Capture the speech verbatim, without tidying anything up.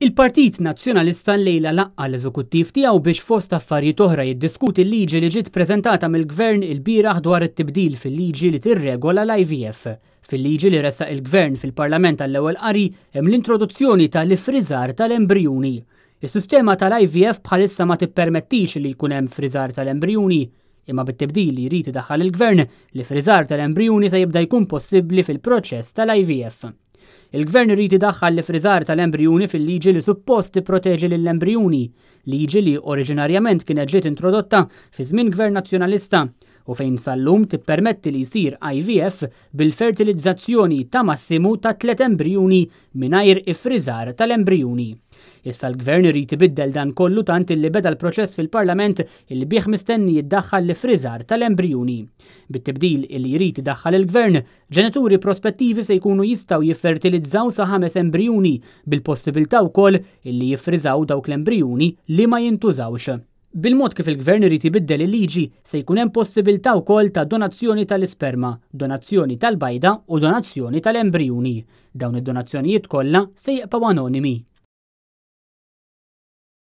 Il-Partit Nazzjonalista llejla laqqa' l-eżekuttiv tiegħu biex fost affarijiet oħra jiddiskuti l-liġi li ġiet preżentata mill-Gvern ilbieraħ dwar it-tibdil fil-liġi li tirregola l-I V F. Fil-liġi li ressaq il-Gvern fil-Parlament għall-ewwel qari hemm l-introduzzjoni tal-ifriżar tal-embrijuni. Is-sistema tal-I V F bħalissa ma tippermettix li jkun hemm friżar tal-embrijuni, imma bit-tibdil li jrid idaħħal il-Gvern, l-ifriżar tal-embrijuni se jibda jkun possibbli fil-proċess tal-I V F. Il-Gvern irid idaħħal l-ifriżar tal-embrijuni fil-liġi li suppost tipproteġi lill-embrijuni, liġi li oriġinarjament kienet ġiet introdotta fi żmien Gvern Nazzjonalista u fejn sal-lum tippermetti li jsir I V F bil-fertilizzazzjoni ta' massimu ta' tliet embrijuni mingħajr ifriżar tal-embrijuni. Issa l-Gvern irid ibiddel dan kollu, tant illi beda l-proċess fil-Parlament illi bih mistenni jiddaħħal l-ifriżar tal-embrijuni. Bit-tibdil illi jrid idaħħal il-Gvern, ġenituri prospettivi se jkunu jistgħu jiffertilizzaw sa ħames embrijuni, bil-possibilità wkoll illi jiffriżaw dawk l-embrijuni li ma jintużawx. Bil-mod kif il-Gvern irid ibiddel il-liġi, se jkun hemm possibilità wkoll ta' donazzjoni tal-isperma, donazzjoni tal-bajda u donazzjoni tal-embrijuni. Dawn id-donazzjonijiet kollha se jibqgħu anonimi.